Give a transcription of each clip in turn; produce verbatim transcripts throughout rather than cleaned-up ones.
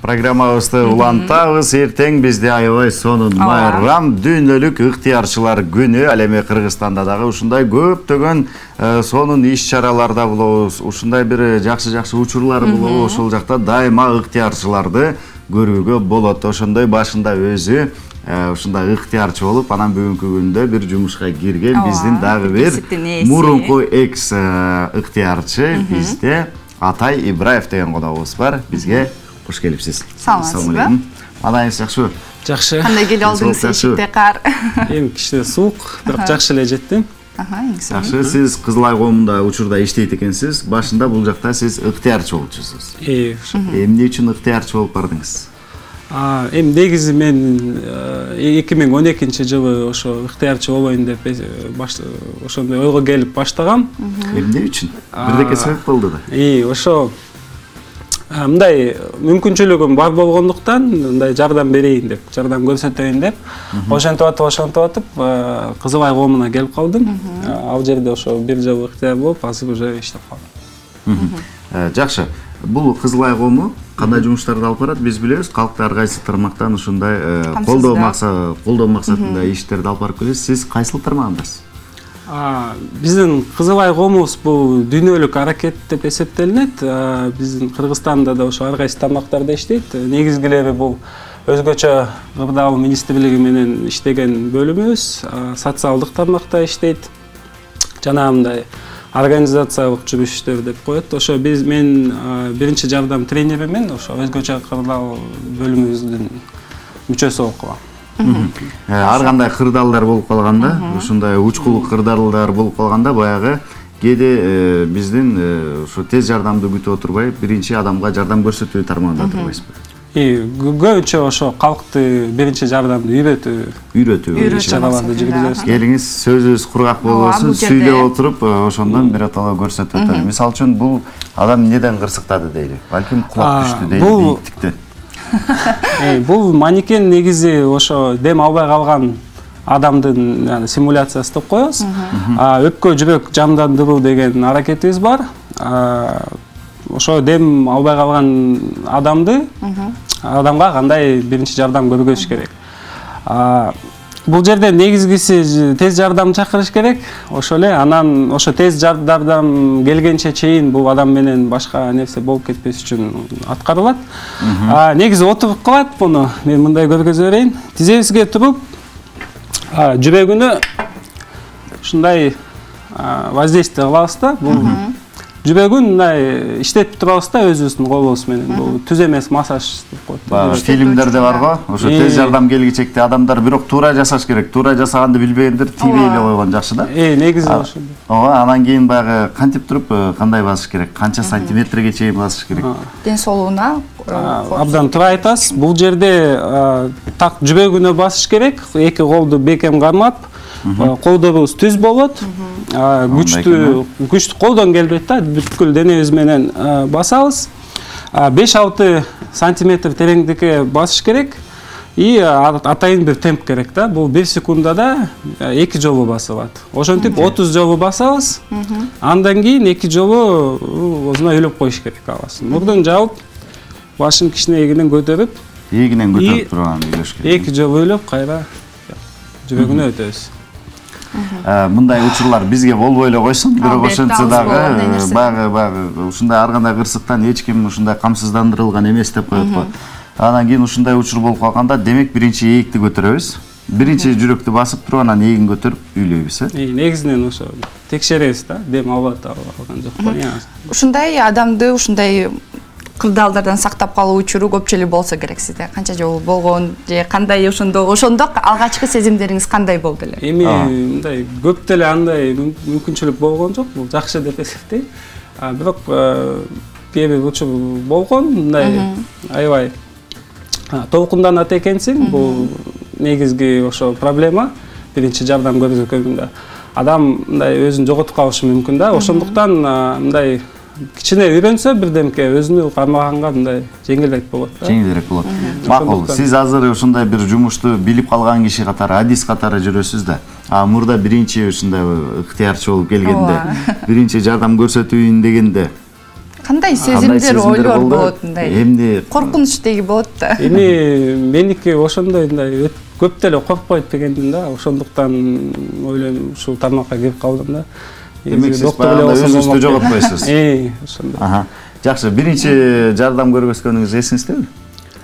Программабызды улантабыз. Эртең бизде аябай сонун майрам дүйнөлүк ыктыярчылар күнү. Ал эми Кыргызстанда дагы ушундай көптөгөн сонун иш-чараларда болобуз. Ушундай бир жакшы-жакшы учурлар болобу. Ошол жакта дайыма ыктыярчыларды көрүүгө болот. Ошондой башында өзү ушундай ыктыярчы болуп, анан бүгүнкү күндө бир жумушка кирген биздин дагы бир мурунку экс ыктыярчы бизде Атай Ибраев деген коногубуз бар. Бизге кош келипсиз. Саламатсызбы? Маданыңыз жакшыбы? Жакшы. Кандай келип алдыңыз эшикте кар? Эми кичине суук, бирок жакшы эле жеттим. Аха, жакшы. Сиз Кызыл Ай коомунда учурда иштейт экенсиз. Башында бул жакта сиз ыктыярчы болчусуз. Э, эмне үчүн ыктыярчы болуп бардыңыз? А, эми негизи мен эки миң он экинчи жылы ошо ыктыярчы болоюн деп ошондой ойго келип баштагам. Эмне үчүн? Бирдеке себеп болду да. И ошо мындай мүмкүнчүлүгүм бар болгондуктан мындай жардам берейин деп, жардам көрсөтөйүн деп, ошентип атып, ошентип атып Кызыл Ай коомуна келип калдым. Ал жерде ошо бир жыл ыктыяр болуп, азыр уже иштеп калдым. Жакшы. Бул Кызыл Ай коому кандай жумуштарды алып барат? Биз билебиз, калкты ар кайсы тармактан ушундай колдоо максаты, колдоо максатында иштерди алып барып келесиз. Сиз кайсыл тармагындасыз? Биздин Кызыл Ай коомубуз бул дүйнөлүк аракет деп эсептелинет. Биздин Кыргызстанда да ошо ар кайсы тармактарда иштейт. Негизгилери бул өзгөчө кырдаал министрлиги менен иштеген бөлүмүбүз, социалдык тармакта иштейт. Жана мындай организациялык жүрүштөр деп коет. Ошо биз мен биринчи жардам тренеримен, ошо өзгөчө кырдаал бөлүмүбүздүн мүчөсү болуп калам. Ар кандай кырдаалдар болуп калганда, ушундай учкул кырдаалдар болуп калганда баягы кээде биздин ушу тез жардамды күтүп отурбай, биринчи адамга жардам көрсөтүү тармагында турбайсызбы? И көбүнчө ошо калкты биринчи жардамды үйрөтүү, үйрөтүү чараларды жүргүзөбүз. Келиңиз, сөзүбүз кургак болбосун, сүйлөп отуруп, ошондон биротоло көрсөтүп аталы. Мисалы үчүн бул адам эмнеден кырсыктады дейли? Балким кулап түштү дейли, бийиктиктен. Бул манекен негизи ошо дем албай калган адамдын симуляциясы деп коебуз. Өпкө жүрөк жандандыруу деген аракетибиз бар. Ошо дем албай калган адамды адамга кандай биринчи жардам көргөзүш керек. Бул жерде негизгиси тез жардам чакырыш керек. Ошо эле анан ошо тез жардам келгенче чейин бул адам менен башка нерсе болуп кетпес үчүн аткарылат. Негизи отуруп калат буну. Мен мындай көргөзө берейин. Тизебизге туруп, жүрөгүнө ушундай воздействие кылабыз да. Бул жүрөгүн мындай иштетип турабыз да өзүбүздүн колубуз менен. Бул түз эмес массаж деп коет. Фильмдерде бар го, ошо тез жардам келгичекте адамдар бирок туура жасаш керек. Туура жасаганды билбегендер тийбей эле койгон жакшы да. Э, негизи ошо. Ооба, анан кийин баягы кантип туруп, кандай басыш керек, канча сантиметрге чейин басыш керек. Ден соолугуна абдан туура айтасыз. Бул жерде так жүрөгүнө басыш керек. Эки колду бекем кармап, колдорубуз түз болот. Күчтүү, күчтүү колдон келбейт да, бүткүл денебиз менен басабыз. беш алты сантиметр тереңдикке басыш керек. И атайын бир темп керек да. Бул бир секундада эки жолу басылат. Ошентип отуз жолу басабыз. Андан кийин эки жолу ойлоп коюш керек аласын. Мурдун жаап, башын кичине эгинен көтөрүп, эгинен көтөрүп турган үйлөш керек. Эки жолу ойлоп кайра жүрөгүнө өтөбүз. Мындай учурлар бизге болбой эле койсун, бирок ошентсе дагы баягы баягы ушундай ар кандай кырсыктан эч ким ушундай камсыздандырылган эмес деп коет го. Анан кийин ушундай учур болуп калганда, демек биринчи ээкти көтөрөбүз. Биринчи жүрөктү басып туруп, анан эгин көтөрүп үйлөйбүз, э? Негизинен ошо текшеребиз да, дем алып калган жокпу. Ушундай адамды ушундай кырдаалдардан сактап калуу учуру көпчө эле болсо керек сизде. Канча жолу болгон же кандай ошондо ошондо алгачкы сезимдериңиз кандай болду эле? Эми мындай көп деле андай мүмкүнчүлүк болгон жок, бул жакшы деп эсептейм. Бирок кээ бир учур болгон, мындай аябай толкунданат экенсиң. Бул негизги ошо проблема. Биринчи жардам көрсөткөндө адам мындай өзүн жоготуп калышы мүмкүн да. Ошондуктан мындай кичине үйрөнсө бирдемке өзүнү кармаганга мындай жеңилирээк болот да. Жеңилирээк болот. Макул. Сиз азыр ушундай бир жумушту билип калган киши катары, адис катары жүрөсүз да. А мурда биринчи ушундай ыктыярчы болуп келгенде, биринчи жардам көрсөтүүн дегенде кандай сезимдер ойлор болот мындай эмне коркунуч деги болот да эми меники ошондой мындай көп деле коркпойт дегендин да ошондуктан ойлойм ушул тармакка кирип калдым да демек сиз баягы өзүңүздү жоготпойсуз э ошондой жакшы биринчи жардам көргөзгөнүңүз эсиңиздеби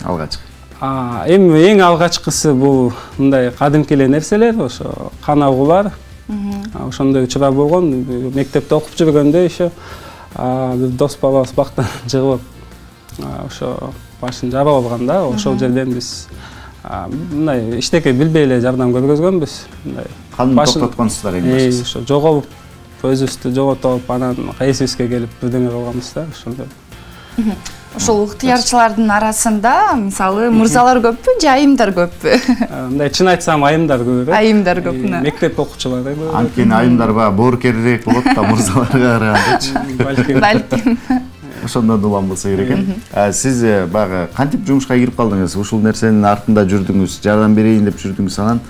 алгачкы эми эң алгачкысы бул мындай кадимки эле нерселер ошо кан агуулар ошондой учурлар болгон мектепте окуп жүргөндө еще бир дос балабыз бактан жыгылып ошо башын жарып алган да ошол жерден биз мындай эчтеке билбей эле жардам көргөзгөнбүз мындай канды токтотконсуздар эң башкысы ошо жоголуп өзүбүздү жоготуп анан эсибизге келип бирдеме кылганбыз да ошондой ошол ыктыярчылардын арасында мисалы мырзалар көппү же айымдар көппү мындай чын айтсам айымдар көп айымдар көп мектеп окуучулары көп анткени айымдар баягы боорукерирээк болот да мырзаларга карагандачы балким балким ошондон улам болсо керек экен сиз баягы кантип жумушка кирип калдыңыз ушул нерсенин артында жүрдүңүз жардам берейин деп жүрдүңүз анан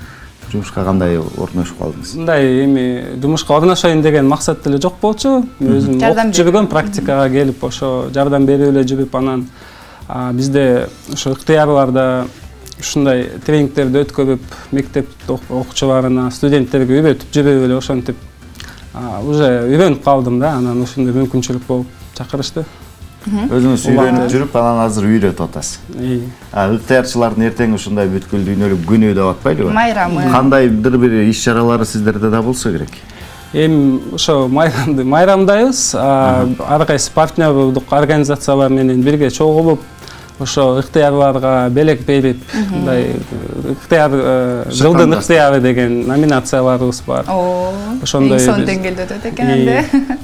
жумушка кандай орношуп калдыңыз мындай эми жумушка орношоюн деген максат деле жок болчу өзүм окуп жүргөм практикага келип ошо жардам берип эле жүрүп анан бизде ошо ыктыярларда ушундай тренингтерди өткөрүп мектеп окуучуларына студенттерге үйрөтүп жүрүп эле ошентип уже үйрөнүп калдым да анан ушундай мүмкүнчүлүк болуп чакырышты өзүңүз үйрөнүп жүрүп анан азыр үйрөтүп атасыз ыктыярчылардын эртең ушундай бүткүл дүйнөлүк күнү деп атпайлыбы майрамы кандайдыр бир иш чаралары сиздерде да болсо керек эми ошо майрамды майрамдайбыз ар кайсы партнердук организациялар менен бирге чогулуп ошо ыктыярларга белек берип мындай ыктыяр жылдын ыктыяры деген номинацияларыбыз бар ошондой сонун деңгээлде өтөт экен энди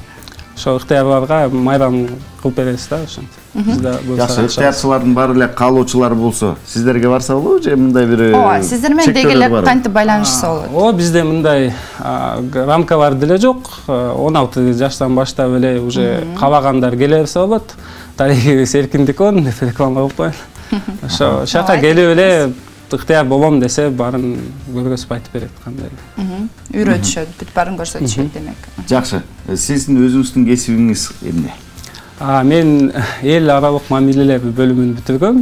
ошо ыктыярларга майрам кылып беребиз да ошентип жакшы ыктыярчылардын баары эле каалоочулар болсо сиздерге барса болобу же мындай бир ооба сиздер менен деги эле кантип байланышса болот ооба бизде мындай рамкалар деле жок он алты жаштан баштап эле уже каалагандар келе берсе болот тарыхыбыз эркиндик он деп реклама кылып коеюн ошо жака келип эле ыктыяр болом десе баарын көргөзүп айтып берет кандай үйрөтүшөт бүт баарын көрсөтүшөт демек жакшы сиздин өзүңүздүн кесибиңиз эмне мен эл аралык мамилелер бөлүмүн бүтүргөм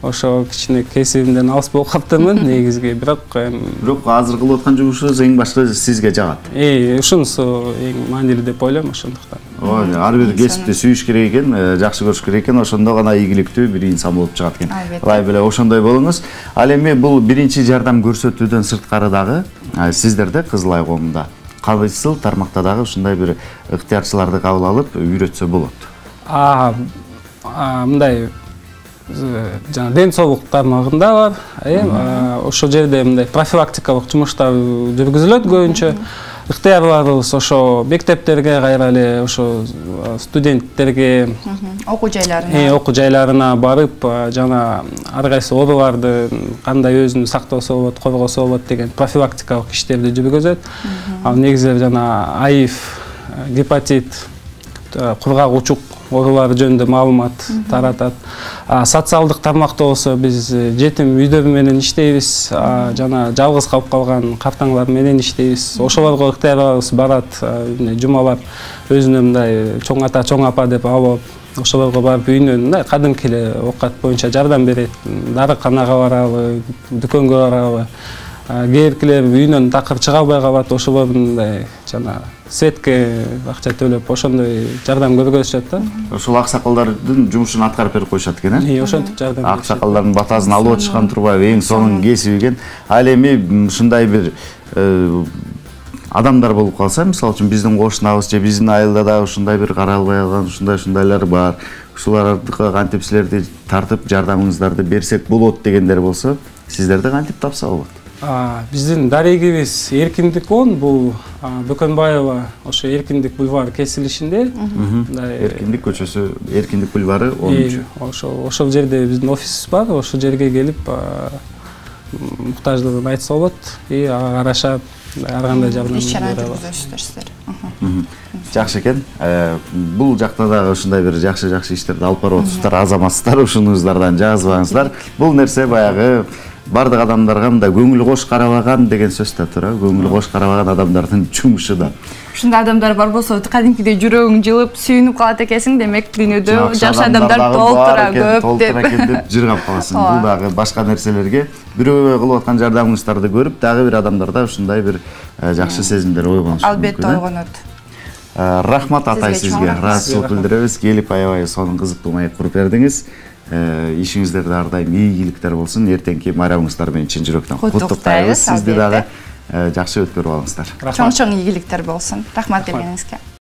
ошо кичине кесибимден алыс болуп каптырмын негизги бирок бирок азыр кылып аткан жумушуңуз эң башкы сизге жагат э ушунусу эң маанилүү деп ойлойм ошондуктан ооба ар бир кесипти сүйүш керек экен жакшы көрүш керек экен ошондо гана ийгиликтүү бир инсан болуп чыгат экен ылайык эле ошондой болуңуз ал эми бул биринчи жардам көрсөтүүдөн сырткары дагы сиздерде Кызыл Ай коомунда кайсыл тармакта дагы ушундай бир ыктыярчыларды кабыл алып үйрөтсө болот мындай жана ден соолук тармагында бар э ошол жерде мындай профилактикалык жумуштар жүргүзүлөт көбүнчө ыктыярларыбыз ошо мектептерге кайра эле ошо студенттерге окуу жайларына э окуу жайларына барып жана ар кайсы ооруларды кандай өзүн сактоосо болот коргосо болот деген профилактикалык иштерди жүргүзөт ал негизи жана аив гепатит кургак учук оорулары жөнүндө маалымат таратат социалдык тармакта болсо биз жетим үйдөр менен иштейбиз жана жалгыз калып калган картаңлар менен иштейбиз ошолорго ыктыярларыбыз барат жумалап өзүнө мындай чоң ата чоң апа деп алып ошолорго барып үйүнөн мындай кадимки эле оокат боюнча жардам берет дарыканага барабы дүкөнгө барабы кээ биркилер үйүнөн такыр чыга албай калат ошолордун мындай жана светке акча төлөп ошондой жардам көргөзүшөт да ошол аксакалдардын жумушун аткарып берип коюшат экен э ошентип жардам аксакалдардын батасын алып отушкан турбайбы эң сонун кесиби экен ал эми ушундай бир адамдар болуп калса мисалы үчүн биздин кошунабыз же биздин айылда дагы ушундай бир каралбай калган ушундай ушундайлар бар ушулардыкы кантип силерди тартып жардамыңыздарды берсек болот дегендер болсо сиздерди кантип тапса болот биздин дарегибиз Эркиндик он бул Бөкөнбаева ошо Эркиндик бульвары кесилишинде Эркиндик көчөсү Эркиндик бульвары онунчу ошо ошол жерде биздин офисибиз бар ошол жерге келип муктаждыгын айтса болот и ага караша ар кандай жардам иш чара жүргүзөсүздөр сиздер жакшы экен бул жакта дагы ушундай бир жакшы жакшы иштерди алып барып атасыздар азаматсыздар ушунуңуздардан жазбаңыздар бул нерсе баягы бардык адамдарга мындай көңүл кош карабаган деген сөз да тура. Көңүл кош карабаган адамдардын жумушу да. Ушундай адамдар бар болсо, кадимкидей жүрөгүң жылып, сүйүнүп калат экенсиң, демек дүйнөдө жакшы адамдар толтура көп деп. Толтура экен деп жыргап каласың. Бул дагы башка нерселерге бирөөгө кылып аткан жардамыңыздарды көрүп, дагы бир адамдарда ушундай бир жакшы сезимдер ойгонушу мүмкүн. Албетте ойгонот. Рахмат атай сизге. Ыраазычылык билдиребиз. Келип аябай сонун кызыктуу маек куруп бердиңиз. Ишиңиздерде ар дайым ийгиликтер болсун. Эртеңки майрамыңыздар менен чын жүрөктөн куттуктайбыз. Сизди дагы жакшы өткөрүп алыңыздар. Чоң-чоң ийгиликтер болсун. Рахмат келгениңизге.